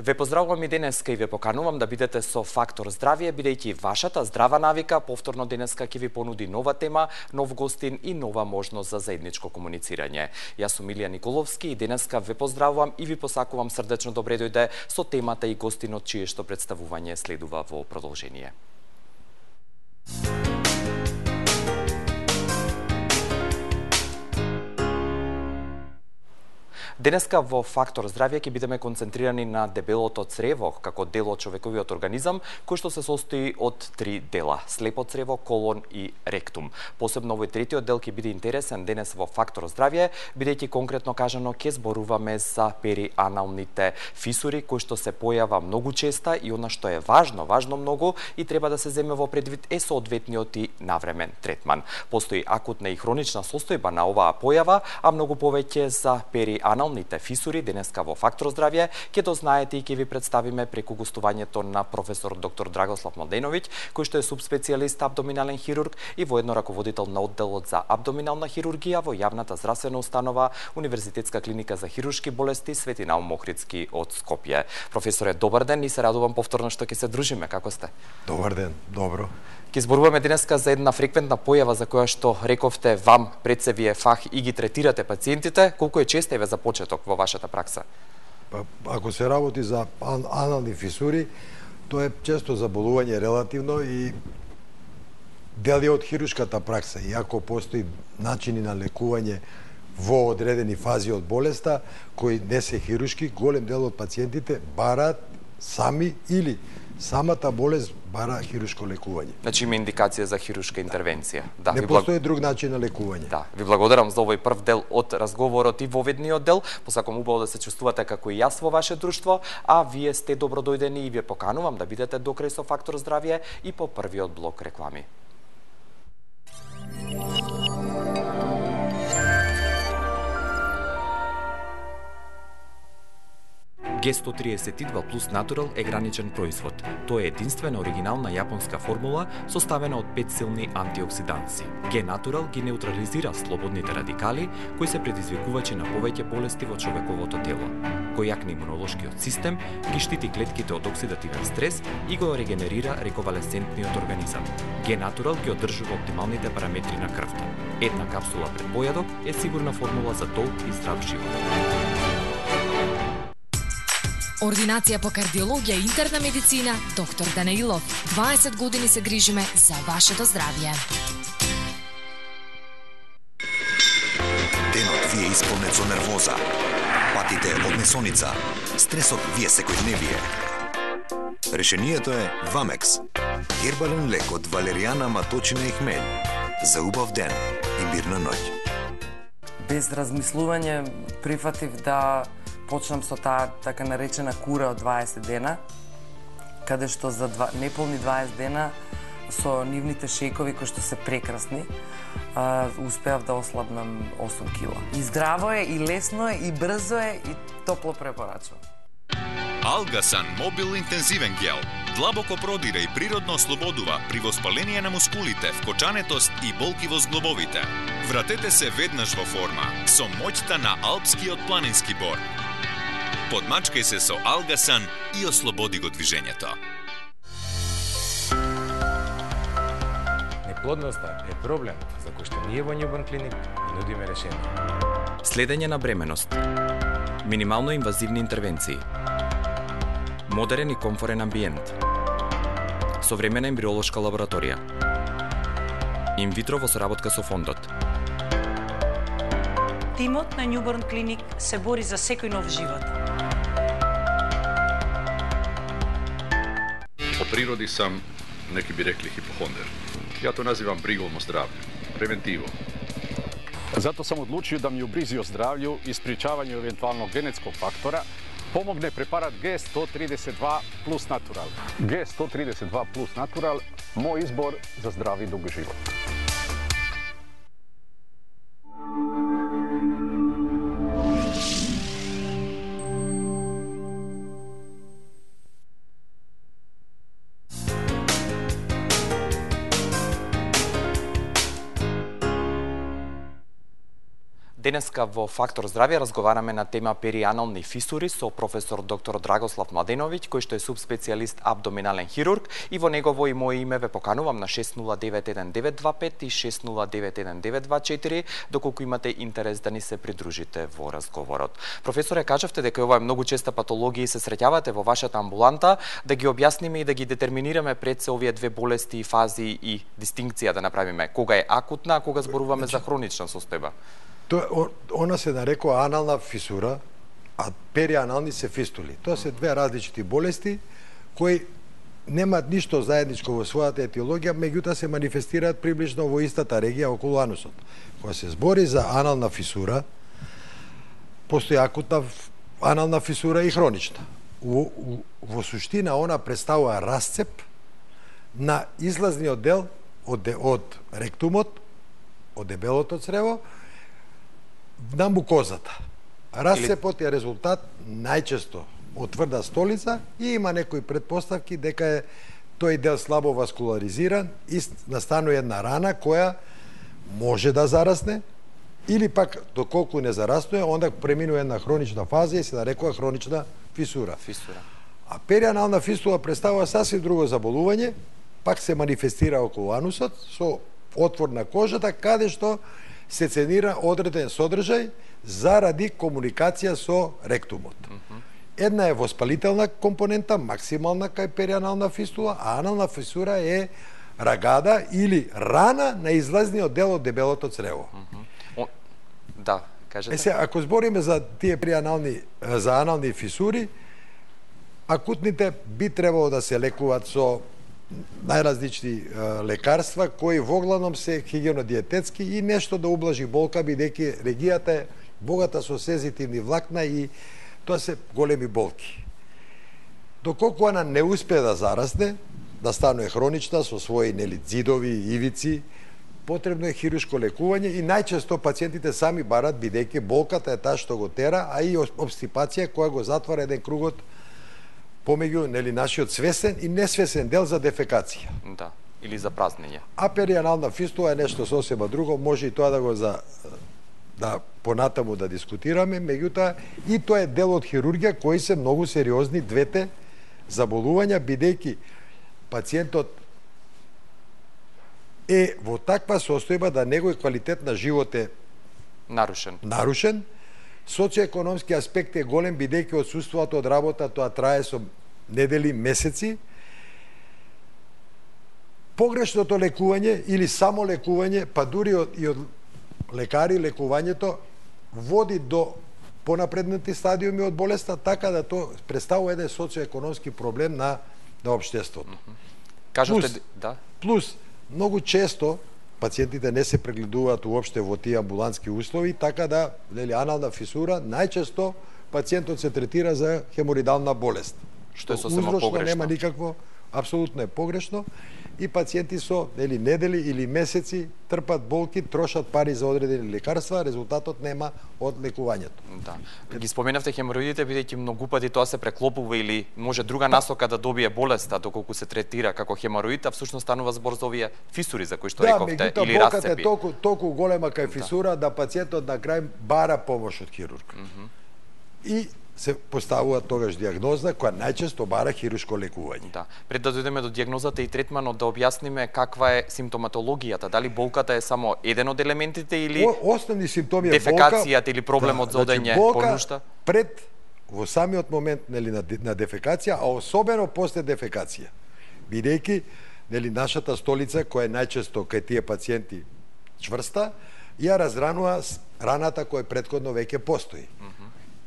Ве поздравувам и денеска и ве поканувам да бидете со Фактор здравје, бидејќи вашата здрава навика повторно денеска ќе ви понуди нова тема, нов гостин и нова можност за заедничко комуницирање. Јас сум Илија Николовски и денеска ве поздравувам и ви посакувам срдечно добре дојде со темата и гостинот чие што представување следува во продолжение. Денеска во Фактор здравје ќе бидеме концентрирани на дебелото црево како дел од човековиот организам, кој што се состои од три дела: слепо црево, колон и ректум. Посебно овој третиот дел ќе биде интересен денес во Фактор здравје, бидејќи конкретно кажано ќе зборуваме за перианалните фисури, кои што се појава многу честа и она што е важно многу и треба да се земе во предвид е соодветниот и навремен третман. Постои акутна и хронична состојба на оваа појава, а многу повеќе за перианалните фисури денеска во Фактор здравје ќе дознаете и ќе ви представиме преку гостувањето на професор доктор Драгослав Младеновиќ, кој што е субспецијалист абдоминален хирург и воедно раководител на одделот за абдоминална хирургија во јавната здравствена установа Универзитетска клиника за хируршки болести Свети Наум Охридски од Скопје. Професоре, добар ден и се радувам повторно што ќе се дружиме. Како сте? Добар ден, добро. Ќе зборуваме денеска за една фреквентна појава за која што рековте вам пред се вие фах и ги третирате пациентите. Колку е честа еве за почеток во вашата пракса? Ако се работи за анални фисури, тоа е често заболување релативно и дел од хируршката пракса. Иако постои начини на лекување во одредени фази од болеста, кои не се хируршки, голем дел од пациентите бараат сами или самата болест бара хируршко лекување. Значи има индикација за хируршка интервенција. Да, не постои друг начин на лекување. Да, ви благодарам за овој прв дел од разговорот и воведниот дел. Посакувам убаво да се чувствувате како и јас во ваше друштво, а вие сте добродојдени и ве поканувам да бидете до крај со Фактор здравје и по првиот блок реклами. Г132 плюс Натурал е граничен производ. Тоа е единствена оригинална јапонска формула составена од 5 силни антиоксиданси. Г-Натурал ги неутрализира слободните радикали кои се предизвикувачи на повеќе болести во човековото тело. Кој јакне имунолошкиот систем, ги штити клетките од оксидативен стрес и го регенерира рековалесцентниот организам. Г-Натурал ги одржува оптималните параметри на крвта. Една капсула пред појадок е сигурна формула за долг и здрав живот. Ординација по кардиологија и интерна медицина, доктор Данаилов. 20 години се грижиме за вашето здравје. Денот ви е исполнет со нервоза, патите од месоница, стресот ви е секојдневие. Решението е Вамекс. Гербален лек од валеријана, маточина и хмелј. За убав ден и мирна ноќ. Без размислување прифатив да почнам со таа така наречена кура од 20 дена, каде што за неполни 20 дена со нивните шејкови кои што се прекрасни, успеав да ослабнам 8 кила. И здраво е, и лесно е, и брзо е, и топло препорачувам. Алгасан Мобил интензивен гел длабоко продира и природно ослободува при воспаление на мускулите, вкочанетост и болки во зглобовите. Вратете се веднаш во форма со моќта на алпскиот планински бор. Подмачкај се со Алгасан и ослободи го движењето. Неплодноста е проблем за кој што ние во Newborn Clinic нудиме решение. Следење на бременост. Минимално инвазивни интервенции. Модерен и комфорен амбиент. Современа ембриолошка лабораторија. Инвитро во соработка со фондот. Тимот на Newborn Clinic се бори за секој нов живот. По природи сам, неки би рекли, хипохондер. Ја то називам бригом о здравју, превентиво. Зато сам одлучио да ми убризи о здравју и спречавање евентуално генетскog фактора помогне препарат Г132 плюс Натурал. Г132 плюс Натурал, мој избор за здрав и дуг живот. Денеска во Фактор здравје разговараме на тема перианални фисури со професор доктор Драгослав Младеновиќ, кој што е субспецијалист абдоминален хирург, и во негово и моје име ве поканувам на 6091-925 и 6091-924, доколку имате интерес да ни се придружите во разговорот. Професоре, кажавте дека ова е многу честа патологија и се среќавате во вашата амбуланта, да ги објасниме и да ги детерминираме пред се овие две болести, фази и дистинкција да направиме. Кога е акутна, а кога зборуваме за хронична состојба? Она се нарекува анална фисура, а перианални се фистули. Тоа се две различити болести кои немаат ништо заедничко во својата етиологија, меѓутоа се манифестираат приближно во истата регија околу анусот. Кога се збори за анална фисура, постои акутна анална фисура и хронична. Во суштина она представува расцеп на излазниот дел од ректумот, од дебелото црево, на мукозата. Расцепот е резултат најчесто од тврда столица и има некои предпоставки дека е тој дел слабо васкуларизиран и настанува една рана која може да зарасне или пак доколку не зараснува, онда преминува една хронична фаза и се нарекува хронична фисура. А перианална фистула представува сасвим друго заболување, пак се манифестира околу анусот со отвор на кожата каде што се ценира одреден содржај заради комуникација со ректумот. Една е воспалителна компонента, максимална кај перианална фистула, а анална фисура е рагада или рана на излазниот дел од дебелото црево. Да, кажете. Ако збориме за тие за анални фисури, акутните би требало да се лекуваат со најразлични лекарства кои воглавном се хигиенодиететски и нешто да ублажи болка, бидејќи регијата е богата со сензитивни влакна и тоа се големи болки. Доколку она не успее да зарасне, да стане хронична со своји зидови и ивици, потребно е хируршко лекување и најчесто пациентите сами барат, бидејќи болката е таа што го тера, а и обстипација која го затвара еден кругот помеѓу нашиот свесен и несвесен дел за дефекација. Да, или за празнење. А перианална фистула е нешто сосема друго, може и тоа да го да понатаму да дискутираме, меѓутоа и тоа е дел од хирургија кои се многу сериозни двете заболувања, бидејќи пациентот е во таква состојба да неговиот квалитет на живот е нарушен. Социоекономски аспект е голем, бидејќи отсуството од работа тоа трае со недели, месеци. Погрешното лекување или само лекување, па дури и од лекари лекувањето води до понапреднати стадиуми од болеста, така да тоа представува еден социоекономски проблем на општеството. Плюс, многу често пациентите не се прегледуваат уопште во тие амбулантски услови, така да анална фисура најчесто пациентот се третира за хеморидална болест. Што е сосема погрешно. Нема никакво, апсолутно е погрешно и пациенти со недели или месеци трпат болки, трошат пари за одредени лекарства, резултатот нема од лекувањето. Да. Ги споменавте хемороидите, бидејќи многу пати тоа се преклопува или може друга насока да добие болеста доколку се третира како хемороид, а всушност станува збор за овие фисури за кои што рековте или расцепи. Да, болката е толку голема кај фисура да пациентот на крај бара помош од хирург. И се поставува тогаш диагноза која најчесто бара хируршко лекување. Да. Пред да дојдеме до диагнозата и третманот, да објасниме каква е симптоматологијата, дали болката е само еден од елементите или основни симптоми е дефекацијата или проблемот за одење по нушта? Пред во самиот момент на дефекација, а особено после дефекација. Бидејќи нашата столица која е најчесто кај тие пациенти чврста, ја разранува раната која претходно веќе постои.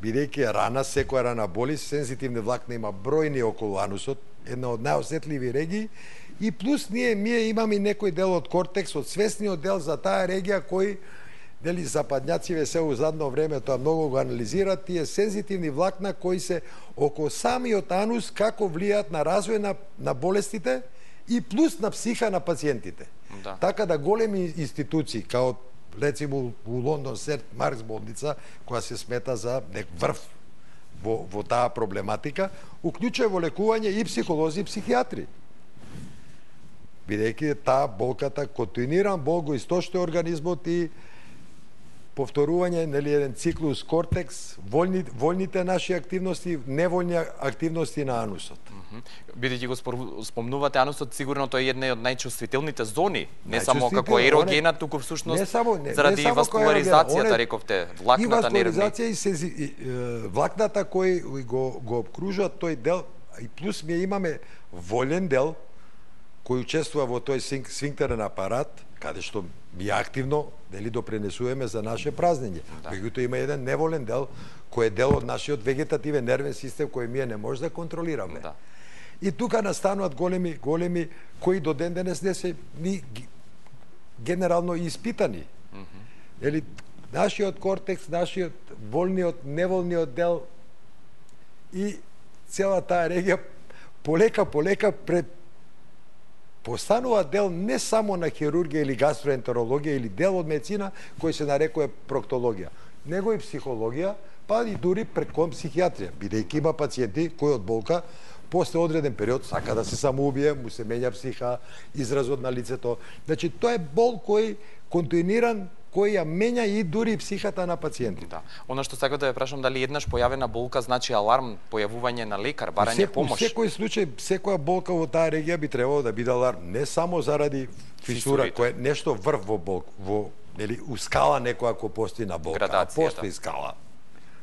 Бидејќи рана, секоја рана боли, сензитивни влакна има бројни околу анусот, една од најосетливи регии, и плюс ние имаме некој дел од кортекс, од свесниот дел за таа регија кој западњациве се у задно време тоа многу го анализираат, тие сензитивни влакна кои се околу самиот анус како влијаат на развој на болестите и плюс на психа на пациентите. Така да големи институции, као рецимо у Лондон Сент Маркс болница, која се смета за врв во таа проблематика, уклучува во лекување и психолози и психијатри. Бидејќи таа болката, континуиран бол го источува организмот и повторување, нели, еден циклус кортекс, вољните наши активности, невољни активности на анусот. Бидејќи го спомнувате анусот, сигурно тој е една од најчувствителните зони, не само како ерогена, туку всушност заради васкуларизацијата, рековте, влакната нервни. И васкуларизација и влакната кој го обкружуваат тој дел, и плюс ми имаме волен дел кој учествува во тој сфинктерен апарат, каде што ми активно дали допренесуваме за наше празнење. Меѓутоа има еден неволен дел кој е дел од нашиот вегетативен нервен систем кој ние не може да контролираме. Да. И тука настануваат големи кои до ден денес не се ни генерално испитани. Или нашиот кортекс, нашиот волниот, неволниот дел и цела таа регија полека постанува дел не само на хирургија или гастроентерологија или дел од медицина кој се нарекува проктологија, него и психологија, па и дури преку психијатрија, бидејќи има пациенти кои од болка после одреден период сака да се самоубие, му се менја психа, изразот на лицето. Значи тоа е бол кој континуиран, кој ја менја и дури психата на пациентите. Да. Она што сакам да ве прашам, дали еднаш појавена болка значи аларм, појавување на лекар, барање помош? Во секој случај, секоја болка во таа регија би требало да биде аларм, не само заради фисура, кој е нешто врв во нели у скала некоја кој постои на болка, а постои скала.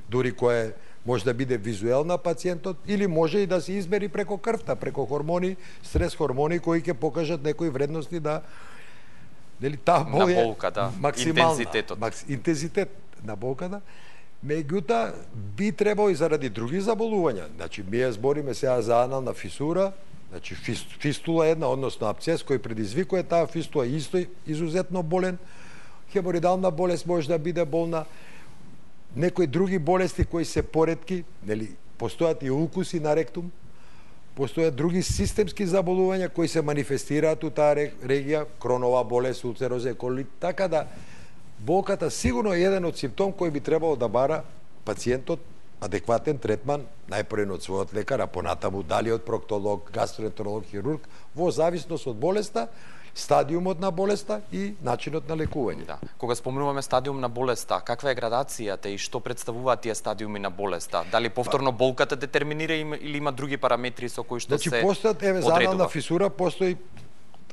Дури кој може да биде визуелна пациентот или може и да се измери преко крвта, преко хормони, стрес хормони кои ќе покажат некои вредности да нели таа болка, да, максимална, интензитетот. Интензитет на болката. Меѓутоа би требало и заради други заболувања. Значи ние збориме сега за анална фисура, значи фистула една, односно абцес кој предизвикува таа фистула исто изузетно болен. Хеморидална болест може да биде болна. Некои други болести кои се поретки, нели постојат и укуси на ректум. Постојат други системски заболувања кои се манифестираат у таа регија, кронова болест, улцерозен колит, така да болката сигурно е еден од симптом кој би требало да бара пациентот адекватен третман, најпрво од својот лекар, а понатаму дали од проктолог, гастроентеролог, хирург, во зависност од болеста, стадиумот на болеста и начинот на лекување. Да. Кога спомнуваме стадиум на болеста, каква е градацијата и што представуваат тие стадиуми на болеста? Дали повторно болката детерминира или има други параметри со кои што се одредува? Значи постојат за анална фисура, постои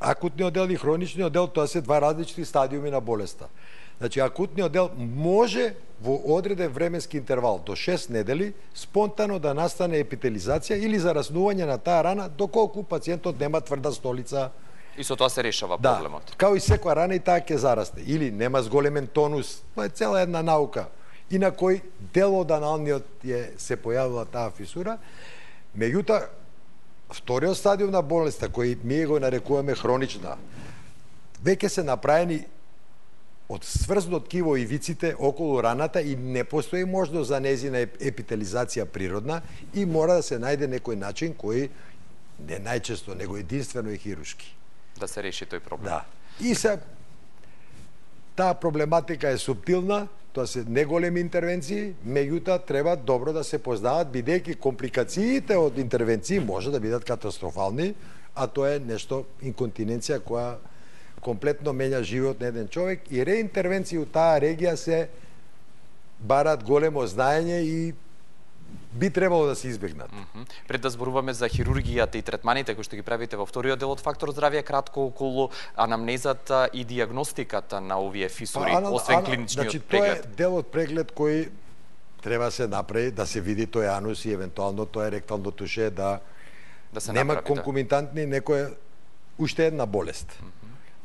акутниот дел и хроничниот дел, тоа се два различни стадиуми на болеста. Значи акутниот дел може во одреден временски интервал до 6 недели спонтано да настане епителизација или зараснување на таа рана доколку пациентот нема тврда столица. И со тоа се решава проблемот. Да, као и секоја рана и таа ќе зарасте. Или нема зголемен тонус, тоа е цела една наука. И на кој дел од аналниот се појавила таа фисура. Меѓутоа, вториот стадиум на болеста, кој ние го нарекуваме хронична, веќе се направени од сврзно ткиво ивиците околу раната и не постои можност за незина епителизација природна и мора да се најде некој начин кој не најчесто, него единствено е хируршки. Да се реши тој проблем. Да. И се таа проблематика е субтилна, тоа се неголеми интервенции, меѓутоа треба добро да се познаваат, бидејќи компликациите од интервенции може да бидат катастрофални, а тоа е нешто инконтиненција која комплетно менја живот на еден човек и реинтервенции у таа регија се барат големо знаење и би требало да се избегнат. Пред да зборуваме за хирургијата и третманите кои што ги правите во вториот дел од Фактор здравје, кратко околу анамнезата и дијагностиката на овие фисури, освен клиничниот значи, преглед. Тоа е дел од преглед кој треба се направи, да се види тој анус и евентуално тоа ректално туше, да се нема направи, конкомитантни некоја уште една болест.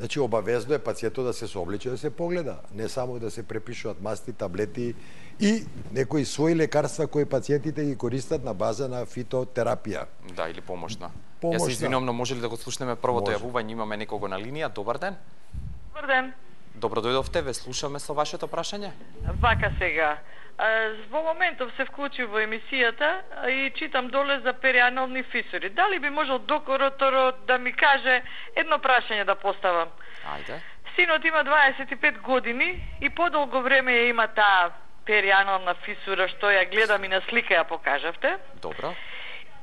Значи, обавезно е пациентот да се соблече, да се погледа, не само да се препишуваат масти, таблети и некои своји лекарства кои пациентите ги користат на база на фитотерапија. Да, или помошна. Јас се извинувам, но може ли да го слушнеме првото јавување? Имаме некого на линија. Добар ден. Добар ден. Добро дојдовте, ве слушаме со вашето прашање. Вака сега. Во моментов се вклучи во емисијата и читам доле за перианални фисури. Дали би можел докторот да ми каже едно прашање да поставам? Ајде. Синот има 25 години и подолго време ја има таа перианална фисура, што ја гледам и на слика ја покажавте. Добро.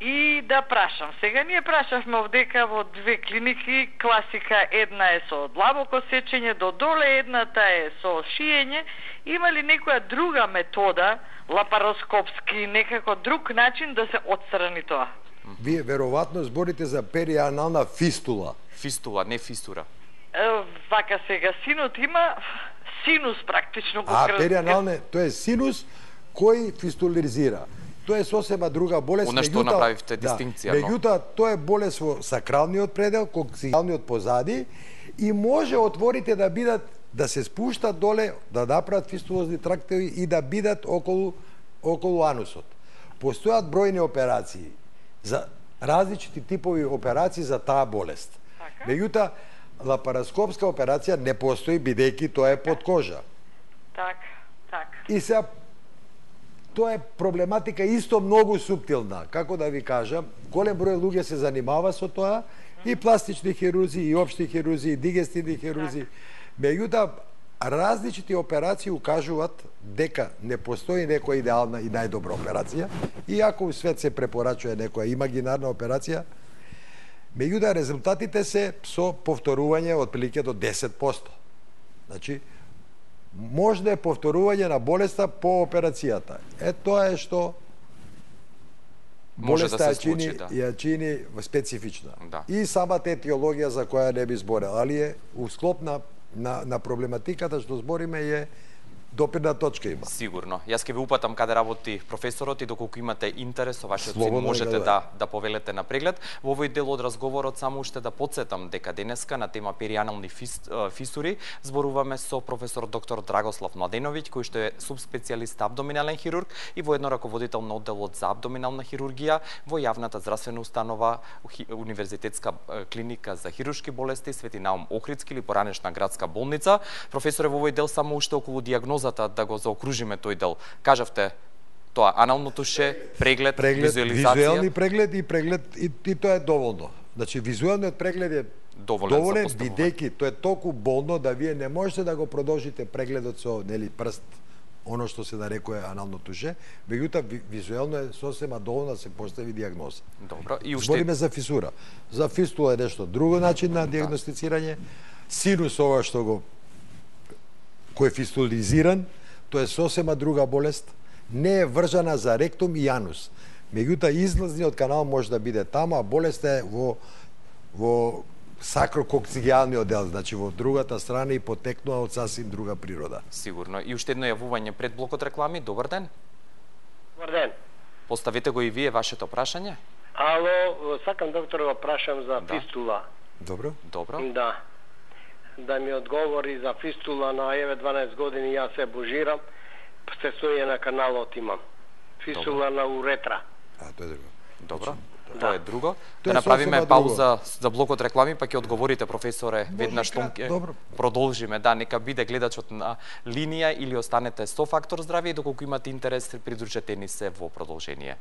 И да прашам. Сега ние прашавме овдека во две клиники, класика една е со длабоко сечење до доле, едната е со шиење Има ли некоја друга метода, лапароскопски, некако друг начин да се отстрани тоа? Вие веројатно зборите за перианална фистула. Фистула, не фистура. Вака сега, синот има синус практично го крстен. Перианалне, тоа е синус кој фистулизира. Тоа е сосема друга болест. Она што направивте дистинкција. Меѓутоа, тоа е болест во сакралниот предел, коксијалниот позади и може отворите да бидат, да се спуштат доле, да направат фистулозни трактови и да бидат околу анусот. Постојат бројни операции за различити типови операции за таа болест. Меѓутоа, лапароскопска операција не постои бидејќи тоа е под кожа. Так. И сега тоа е проблематика исто многу суптилна. Како да ви кажам, голем број луѓе се занимава со тоа, и пластични хирурзи, и општи хирурзи, и дигестивни хирурзи. Меѓутоа, различити операции укажуваат дека не постои некоја идеална и најдобра операција, иако у свет се препорачува некоја имагинарна операција, меѓутоа резултатите се со повторување отприлike до 10%. Значи, можно е повторување на болеста по операцијата. Тоа е што болеста ја чини специфична. И самата етиологија за која не би зборел, али е у склоп на проблематиката што збориме е допирна точка има. Сигурно. Јас ќе ви упатам каде работи професорот и доколку имате интерес со вашиот син можете да повелете на преглед. Во овој дел од разговорот само уште да потсетам дека денеска на тема перианални фисури зборуваме со професор доктор Драгослав Младеновиќ, кој што е субспецијалист абдоминален хирург и воедно раководител на одделот за абдоминална хирургија во јавната здравствена установа Универзитетска клиника за хируршки болести Свети Наум Охридски или поранешна градска болница. Професоре, во овој дел само уште околу дијагнозата да го заокружиме тој дел. Кажавте тоа анално туше, преглед, визуализација. Визуелни преглед и преглед и тоа е доволно. Значи визуелниот преглед е доволен бидејќи тоа е толку болно да вие не можете да го продолжите прегледот со прст, оно што се нарекува анално туше, меѓутоа визуелно е сосема доволно да се постави дијагноза. Добро, и уште збориме за фисура. За фистула е нешто друго начин на дијагностицирање. Синус ова што кој е фистулизиран, тоа е сосема друга болест, не е вржана за ректум и анус. Меѓутоа излазниот канал може да биде таму, а болеста е во сакрококсијалниот дел, значи во другата страна и потекнува од сасвим друга природа. Сигурно. И уште едно јавување пред блокот реклами. Добар ден. Добар ден. Поставете го и вие вашето прашање. Ало, сакам доктор да прашам за фистула. Добро. Да ми одговори за фистула на 12 години, јас се божирам, стесување на каналот имам. Фистула на уретра. Тоа е друго. Добро. Тоа е друго. Да направиме пауза за блокот реклами, па ќе одговорите, професоре, веднаш што ќе продолжиме. Да, нека биде гледачот на линија или останете со Фактор здравје и доколку имате интерес, придружете ни се во продолжение.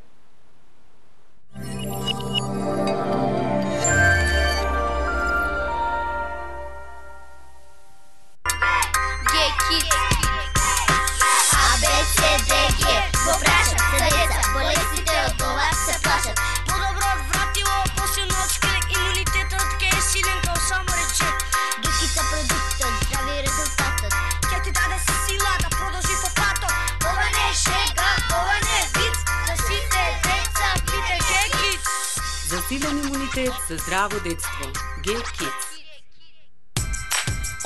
Засилен имунитет за здраво детство. G-Kids.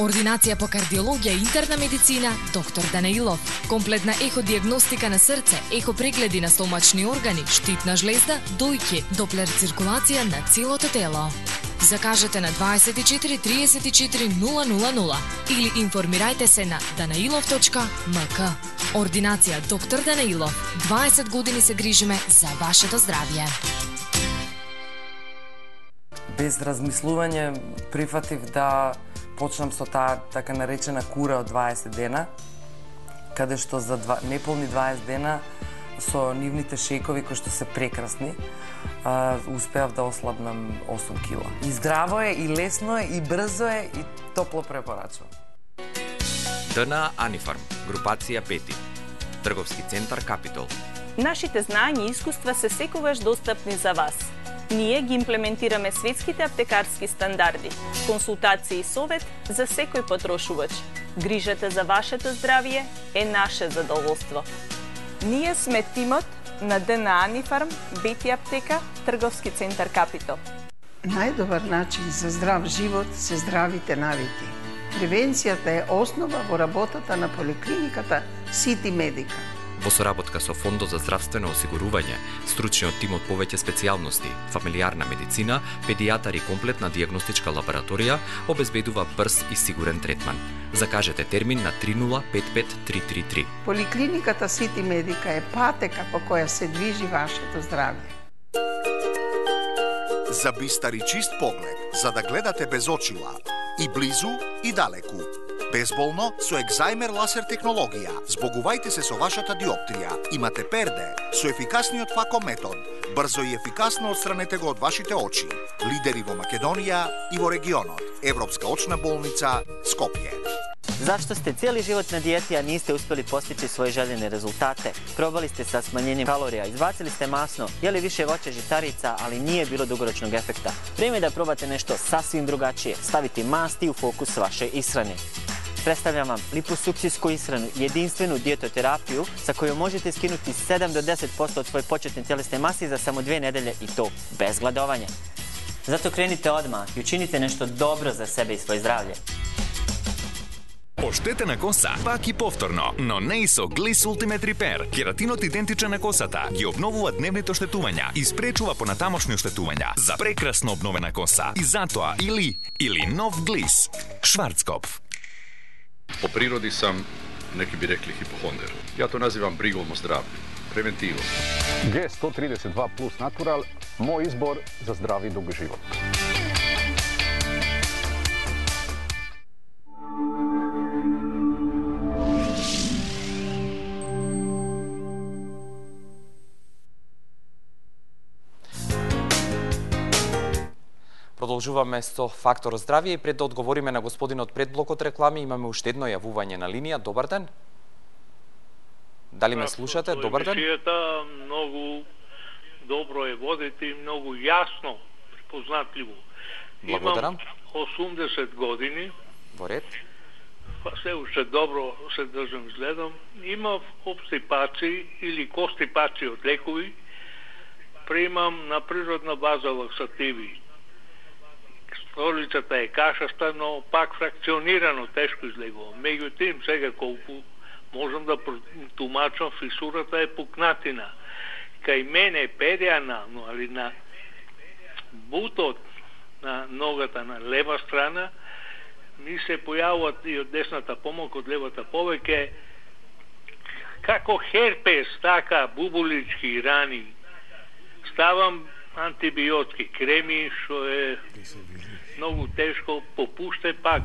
Ординација по кардиологија и интерна медицина, доктор Данаилов. Комплетна еходиагностика на срце, ехопрегледи на стомачни органи, штитна жлезда, дојќе, доплер циркулација на целото тело. Закажете на 24 34 000 или информирајте се на danailov.mk. Ординација доктор Данаилов. 20 години се грижиме за вашето здравје. Без размислување прифатив да почнам со таа така наречена кура од 20 дена, каде што за неполни 20 дена со нивните шејкови кои што се прекрасни, успеав да ослабнам 8 кила. И здраво е, и лесно е, и брзо е, и топло препорачувам. ДНА Анифарм, групација 5, трговски центар Капитол. Нашите знаења и искуства се секогаш достапни за вас. Ние ги имплементираме светските аптекарски стандарди, консултации и совет за секој потрошувач. Грижата за вашето здравје е наше задоволство. Ние сме тимот на ДНА Анифарм, Бети аптека, Трговски центар Капитол. Најдобар начин за здрав живот се здравите навики. Превенцијата е основа во работата на поликлиниката Сити Медика. Во соработка со Фондот за здравствено осигурување, стручниот тим од повеќе специјалности, фамилиарна медицина, педијатар и комплетна дијагностичка лабораторија обезбедува брз и сигурен третман. Закажете термин на 3055333. Поликлиниката Сити Медика е патека по која се движи вашето здравје. За бистар и чист поглед, за да гледате без очила, и близу и далеку. Безболно со екзајмер ласер технологија. Збогувајте се со вашата диоптрија. Имате перде со ефикасниот факометод. Брзо и ефикасно отстранете го од вашите очи. Лидери во Македонија и во регионот. Европска очна болница Скопје. Зашто сте цели живот на диети, а нисте успели постигнати своји желени резултате? Пробали сте sa smanjenjem kalorija, izbacili ste masno, jeli više voća žitarica, ali nije bilo dugoročnog efekta. Vrijeme je da probate nešto sasvim drugačije, staviti masti u fokus vaše ishrane. Predstavljam vam liposuksijsku ishranu, jedinstvenu dijetoterapiju sa kojom možete skinuti 7 do 10% od svoje početne tjelesne mase za samo 2 nedelje i to bez gladovanja. Zato krenite odmah i učinite nešto dobro za sebe i svoje zdravlje. Оштетена коса, пак и повторно, но не и со Gliss Ultimate Repair. Кератинот идентичен на косата ги обновува дневните оштетувања и спречува понатамошни оштетувања за прекрасно обновена коса. И затоа или нов Gliss. Шварцкопф. По природи сам, неки би рекли хипохондер. Ја то називам бригом о здравје, превентиво. G132 Plus Natural, мој избор за здрав и дуг живот. Продолжуваме со Фактор здравје и пред да одговориме на господинот пред блокот реклами, имаме уште едно јавување на линија. Добар ден. Дали ме слушате? Добар ден. Емисијата многу добро е водите и многу јасно, препознатливо. Благодарам. Имам 80 години. Во ред. Се уште добро се држам, изгледам. Имав обстипации или костипации од лекови. Примам на природна база лаксативи. Столицата е кашаста, но пак фракционирано, тешко излегува. Меѓутоа, сега колку можам да тумачам, фисурата е пукнатина. Кај мене перианално, али на бутот на ногата на лева страна, ми се појавуват и од десната помалку, од левата повеќе, како херпес, така бубулички рани. Ставам антибиотски креми, што е многу тешко, попуште пак.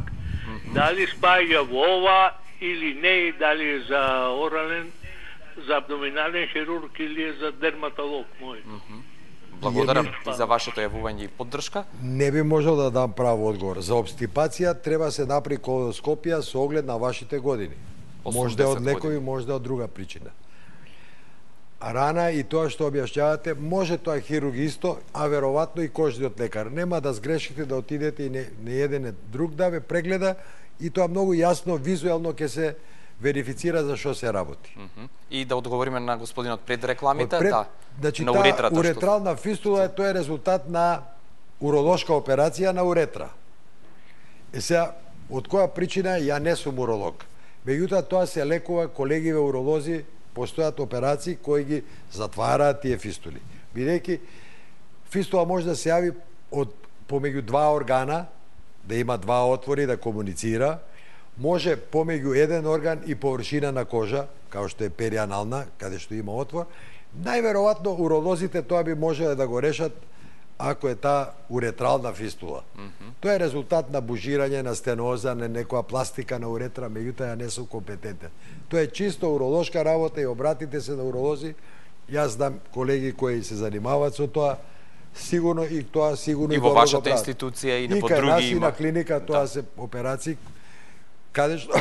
Дали спаѓа во ова или не, дали е за орален, за абдоминален хирург или е за дерматолог мој. Благодарам и за вашето јавување и поддршка. Не би можел да дам право одговор. За обстипација треба се направи колоноскопија со оглед на вашите години. Може да од лекови, може да од друга причина. Рана и тоа што објаснявате, може тоа хирургисто, а веројатно и кожниот лекар. Нема да сгрешите да отидете и не еден друг да ве прегледа и тоа многу јасно, визуелно ќе се верифицира за што се работи. И да одговориме на господинот пред рекламите, значи, на уретрата. Уретрална фистула тоа е резултат на уролошка операција на уретра. Сега, од која причина ја не сум уролог. Меѓутоа тоа се лекува, колегиве уролози постојат операции кои ги затвараат тие фистули. Бидејќи фистула може да се јави од помеѓу два органа, да има два отвори да комуницира, може помеѓу еден орган и површина на кожа, као што е перианална, каде што има отвор. Најверојатно уролозите тоа би можеле да го решат ако е таа уретрална фистула. Тоа е резултат на бужирање, на стеноза, на некоја пластика на уретра, меѓутоа ја не сум компетентен. Тоа е чисто уролошка работа и обратите се на уролози. Јас знам колеги кои се занимаваат со тоа, сигурно и тоа сигурно и во вашата институција и по други има. И на клиника тоа се операции каде што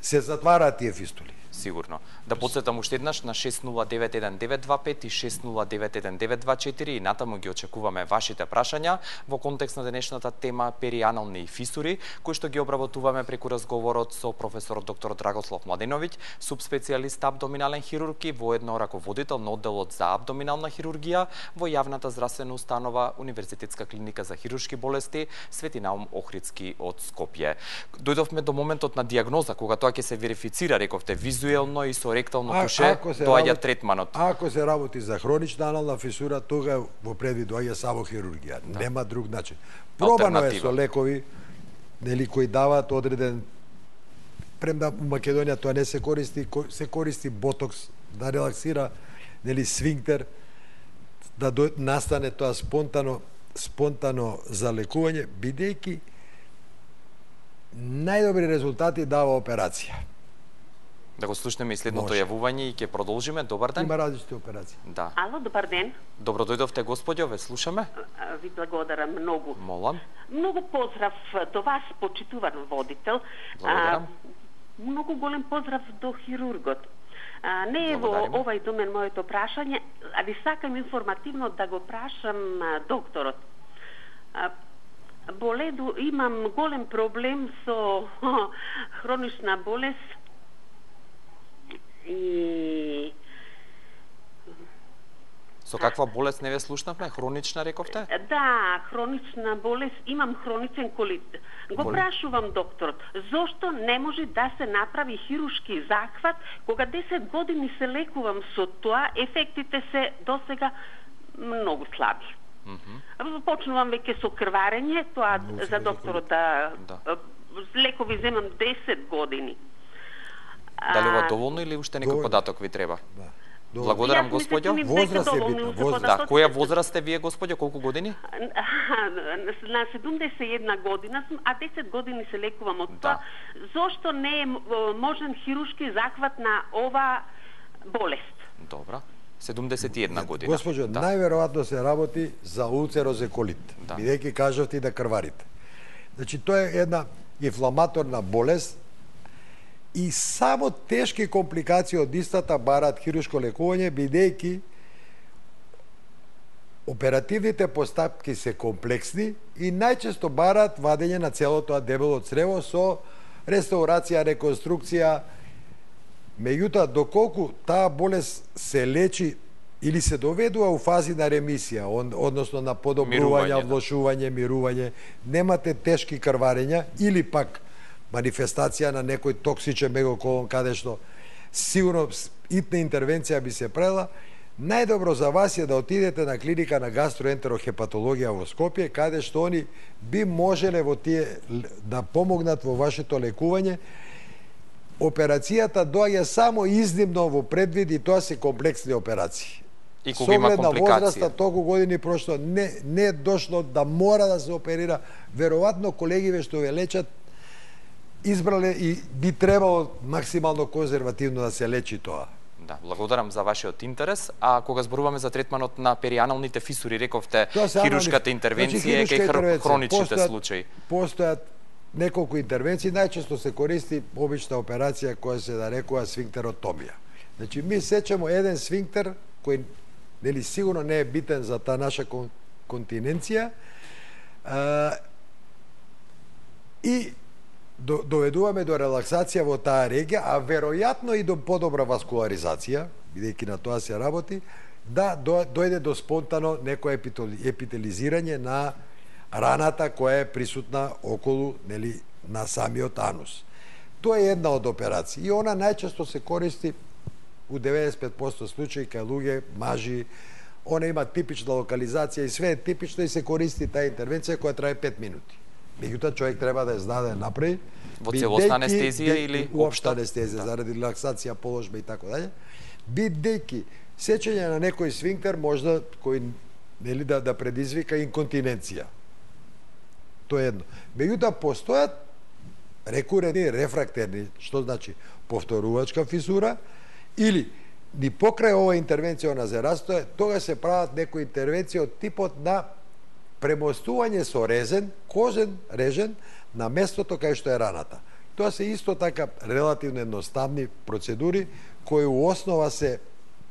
се затвараат тие фистули. Сигурно. Да подсетам уште еднаш на 6091-925 и 6091-924 и натаму ги очекуваме вашите прашања во контекст на денешната тема перианални фисури, кои што ги обработуваме преку разговорот со професор доктор Драгослав Младеновиќ, субспецијалист абдоминален хирург и воедно раководител на одделот за абдоминална хирургија во јавната здравствена установа Универзитетска клиника за хируршки болести Свети Наум Охридски од Скопје. Дојдовме до моментот на диагноза, кога тоа ќе се верифицира, рековте, визуелно и со ректално туше, доаѓа третманот. Ако се работи за хронична анална фисура, тога во предвид доаѓа само хирургија. Нема друг начин. Пробано е со лекови, нели, кои даваат одреден, премда у Македонија тоа не се користи ботокс да релаксира, нели, сфинктер, да настане тоа спонтано залекување, бидејќи најдобри резултати дава операција. Да го слушнеме и следното јавување и ќе продолжиме. Добар ден. Има различни операции. Да. Ало, добар ден. Добро дојдовте, господјо, ве слушаме. Ви благодарам многу. Молам. Многу поздрав до вас, почитуван водител. Благодарам. Многу голем поздрав до хирургот. Не е во овај домен моето прашање, али сакам информативно да го прашам докторот. Имам голем проблем со хронична болест и... Со каква болест не ве слушнавме? Хронична, рековте? Да, хронична болест. Имам хроничен колит. Го прашувам докторот, зошто не може да се направи хируршки захват, кога 10 години се лекувам со тоа, ефектите се досега многу слаби. Почнувам веќе со крварење, тоа за докторот да лекови земам 10 години. Дали ова доволно или уште некој податок ви треба? Благодарам, господјо. Возраст е битна. Да, која возраст сте вие, господјо? Колку години? На 71 година сум, а 10 години се лекувам од тоа. Зошто не е можен хируршки захват на ова болест? Добра. 71 година. Госпожо, најверојатно се работи за улцерозеколит, бидејќи кажавте да крварите. Значи, тоа е една инфламаторна болест и само тешки компликации од истата бараат хируршко лекување, бидејќи оперативните постапки се комплексни и најчесто бараат вадење на целото тоа дебело црево со реставрација, реконструкција. Меѓутоа, доколку таа болест се лечи или се доведува у фази на ремисија, односно на подобрување, влошување, мирување, немате тешки крварења или пак манифестација на некој токсичен мегоколон каде што сигурно итна интервенција би се правила, најдобро за вас е да отидете на клиника на гастроентерохепатологија во Скопје, каде што они би можеле во тие да помогнат во вашето лекување. Операцијата доаѓа само изнimно во предвид и тоа се комплексни операции. И кога има компликација. На возраста, толку години прошто не е дошло да мора да се оперира. Веројатно колегиве што ве лечат избрале и би требало максимално конзервативно да се лечи тоа. Да, благодарам за вашиот интерес. А кога зборуваме за третманот на перианалните фисури, рековте хируршката интервенција кај хроничните случаи. Постојат неколку интервенции, најчесто се користи обична операција која се нарекува сфинктеротомија. Значи, ми сечемо еден сфинктер кој нели сигурно не е битен за таа наша континенција и доведуваме до релаксација во таа регија, а веројатно и до подобра васкуларизација, бидејќи на тоа се работи, да дојде до спонтано некое епителизирање на раната која е присутна околу, нели, на самиот анус. Тоа е една од операции и она најчесто се користи у 95% случаи кај луѓе, мажи. Она има типична локализација и све е типично и се користи таа интервенција која трае 5 минути. Меѓутоа човек треба да ја знае да ја направи во целосна анестезија или општа анестезија заради релаксација, положба и така даје. Бидејќи сечење на некој сфинктер можда кој нели да предизвика инконтиненција. Тоа е едно. Меѓутоа постојат рекурентни рефрактерни, што значи повторувачка фисура, или ни покрај ова интервенција на зерастоја, тога се прават некои интервенции од типот на премостување со резен, кожен режен, на местото кај што е раната. Тоа се исто така релативно едноставни процедури кои у основа се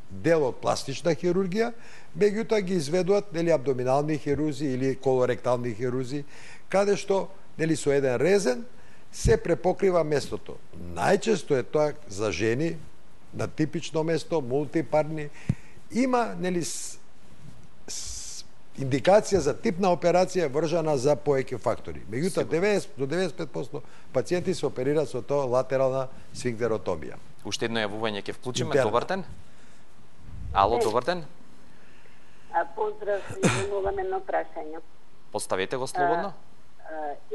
дел од пластична хирургија, меѓутоа ги изведуваат нели абдоминални хирурзи или колоректални хирурзи, каде што нели со еден резен се препокрива местото. Најчесто е тоа за жени на типично место, мултипарни. Има нели индикација за типна операција вржана за повеќе фактори. Меѓутоа 90 до 95% пациенти се оперираат со тоа латерална сфинктеротомија. Уште едно јавување ќе вклучиме. Добар ден. Ало, добар ден. Поздрав, имам едно прашање. Поставете го слободно.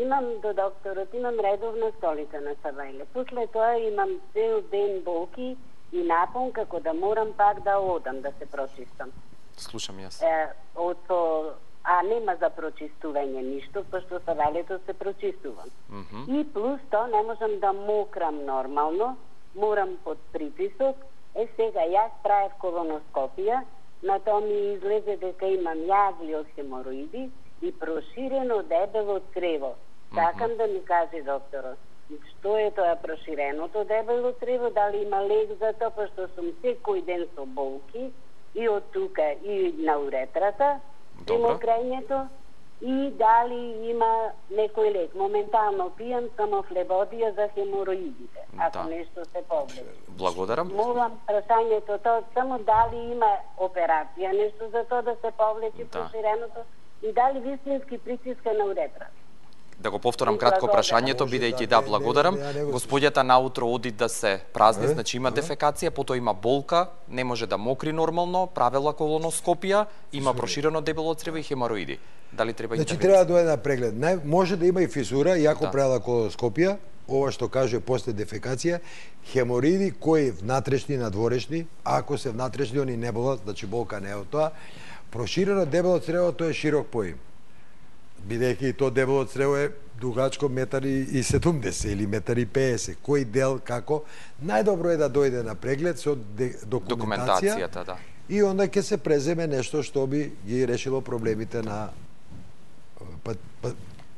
Имам до докторот, имам редовна столица на Савајле. После тоа имам цел ден болки и напон како да морам пак да одам да се прочистам. Слушам јас. А нема за прочистување ништо, пошто Савајлето се прочистувам. И плюс тоа не можам да мокрам нормално, морам под притисок. Сега јас правев колоноскопија, на тоа ми излезе дека имам јагли од хемороиди и проширено дебело црево. Сакам да ми каже докторот, што е тоа проширеното дебело црево, дали има лек за тоа, пошто сум секој ден со болки и од тука и на уретрата, и мокрањето, и дали има некој лек. Моментално пијам само флебодија за хемороидите, ако нешто се повреди. Благодарам. Молам прашањето тоа само дали има операција, нешто за тоа да се повлечи проширеното и дали вистински притиска на уретрата. Да го повторам кратко прашањето, бидејќи благодарам. Господјата наутро оди да се празни, значи има дефекација, потоа има болка, не може да мокри нормално, правила колоноскопија, има проширено дебело црево и хемороиди. Дали треба интервенција? Значи треба да дојде на преглед. Може да има и физура, иако правила колоноскопија, ова што кажува после дефекација, хемороиди кои внатрешни, надворешни, ако се внатрешни, они не болат, значи болка не е од тоа. Проширено дебело црево, тоа е широк поим. Бидејќи то дебело црево е дугачко 1,70 или 1,50 кој дел како, најдобро е да дојде на преглед со документацијата, да. И онда ќе се преземе нешто што би ги решило проблемите на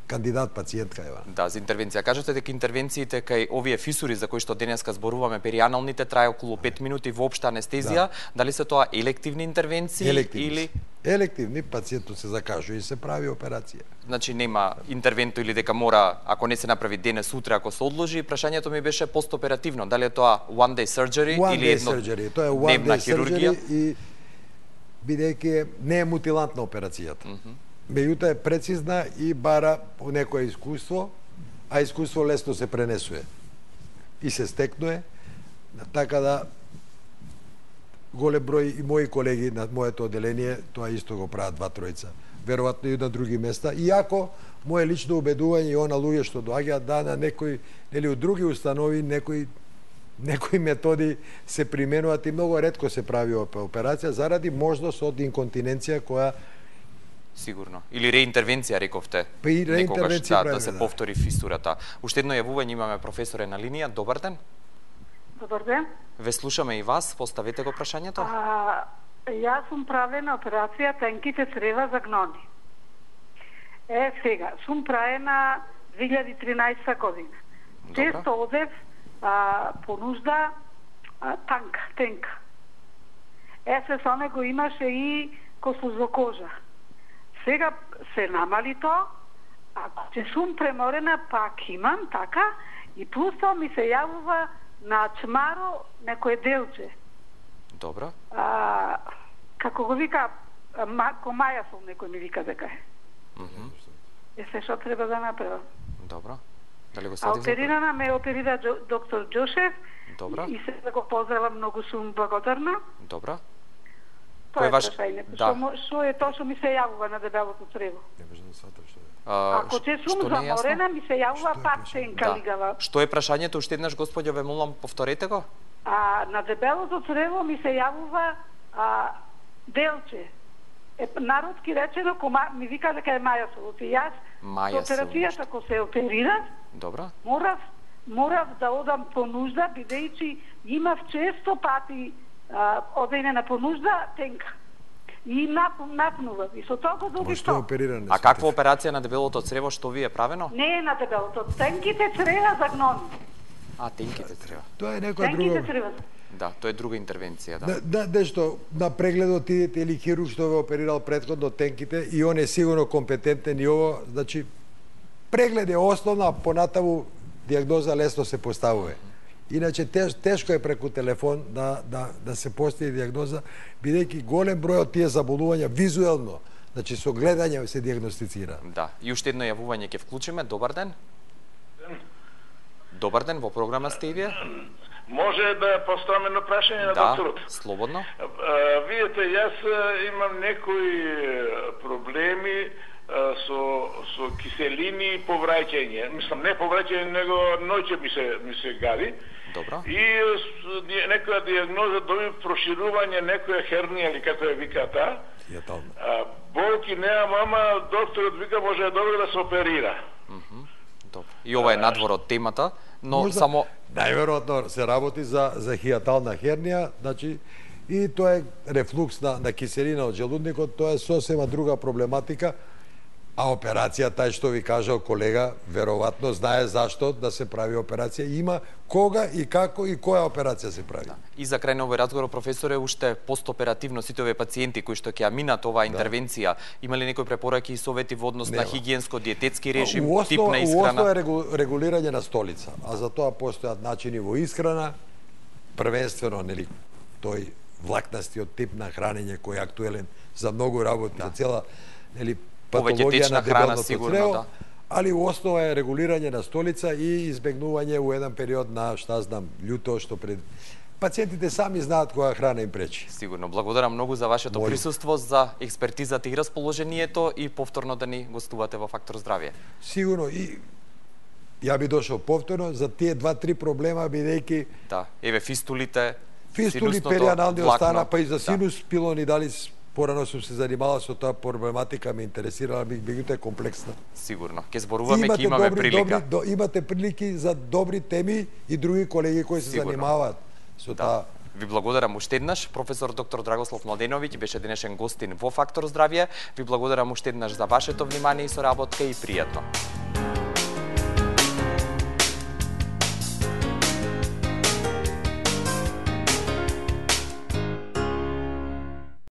кандидат пациентка ева. Да, за интервенција. Кажете дека интервенциите кај овие фисури за кои што денеска зборуваме, перианалните, трае околу 5 минути воопшта анестезија, дали се тоа елективни интервенции или елективни, пациентот се закажува и се прави операција. Значи нема интервенто или дека мора, ако не се направи денес, утре, ако се одложи. Прашањето ми беше постоперативно, дали е тоа one day surgery или еднодневна хирургија? И бидејќи не е мутилантна операцијата. Меѓутоа е прецизна и бара по некое искуство, а искуство лесно се пренесува и се стекнува, така да голем број и мои колеги на моето одделение тоа исто го прават 2-3. Веројатно и на други места, иако мое лично убедување и она луѓе што доаѓаат да на некои или од други установи некои методи се применуваат и многу ретко се прави операција заради можност од инконтиненција која сигурно. Или реинтервенција, рековте. Некогаш да се повтори фисурата. Уште едно јавување имаме, професоре на линија. Добар ден. Добар ден. Ве слушаме и вас, поставете го прашањето. Јас сум правена операција тенките црева за гнони. Сега, сум правена 2013 година. Често одев по нужда тенка. Се со него имаше и кослузокожа. Сега се намали тоа, ако че сум преморена, пак имам, така, и плюс тоа ми се јавува на чмаро некој делче. Добро. Како го вика, ко мајасол некој ми вика дека е. Се што треба да направам. Добро. Дали го оперирана ме оперира доктор Џошев. Добро. И се да го поздравам, многу сум благодарна. Добро. Тоа е прашањето. Што е тоа што ми се јавува на дебелото црево? Ако че сум заморена, ми се јавува пак тенка лигава. Што е прашањето? Уште еднаш, господјо, ве молам, повторете го. На дебелото црево ми се јавува делче. Народски речено, ми вика дека е мајасолот. И јас, со операцијата, ако се оперирав, морав да одам по нужда, бидејќи имав често пати одење на понужда тенка. и напнува. И со тоа го доби Што опериране? А каква операција на дебелото црево што ви е правено? Не е на дебелото, тенките црева загнони. А, тенките црева. Тоа е некоја Тенките друга. црева. Да, тоа е друга интервенција, да. Нешто на прегледот идете или хирург што ве оперирал претходно тенките и он е сигурно компетентен и ово, значи преглед е основна, понатаму дијагноза лесно се поставува. Иначе тешко е преку телефон да се постигне дијагноза, бидејќи голем број од тие заболувања визуелно, значи со гледање се дијагностицира. Да, и уште едно јавување ќе вклучиме. Добар ден. Добар ден, во програма сте и вие? Може да поставам едно прашање на докторот? Да, слободно. Видите, јас имам некои проблеми со киселини и повраќање. Мислам, не повраќање, него ноќе ми се гади. Добро. И некоја дијагноза доби проширување, некоја хернија или како ја вика таа. Болки немам, ама докторот вика може добро да се оперира. Добро. И ова е надвор од темата, но Можда, само најверојатно се работи за хијатална хернија, значи и тоа е рефлукс на киселина од желудникот, тоа е сосема друга проблематика. А операцијата, што ви кажал колега, веројатно знае зашто да се прави операција. Има кога и како и која операција се прави. Да. И за крај на овој разговор, професоре, уште постоперативно сите овие пациенти кои што ќе ја минат оваа интервенција, има ли некои препораки и совети во однос на хигиенско-диететски режим, тип на исхрана? Основа е регулирање на столица, а за тоа постојат начини во исхрана, првенствено, нели, тој влакнастиот тип на хранење кој е актуелен за многу работи, за цела, нели, патологија на дебелото црево, да. Али у основа е регулирање на столица и избегнување у еден период на, шта знам, љуто, што пред... Пациентите сами знаат која храна им пречи. Сигурно. Благодарам многу за вашето присуство, за експертизата и расположението и повторно да ни гостувате во Фактор здравје. Сигурно. И ја би дошол повторно за тие 2-3 проблема, бидејќи... Да, еве фистулите, фистули, перианални остана, па и за синус пилони, дали порано сум се занимавал со таа проблематика, ме интересирала, меѓутоа комплексна. Сигурно. Ке зборуваме, ке имаме прилика. Имате прилики за добри теми и други колеги кои се занимаваат со таа. Ви благодарам уште еднаш. Професор доктор Драгослав Младеновиќ беше денешен гостин во Фактор здравје. Ви благодарам уште еднаш за вашето внимание и соработка и пријатно.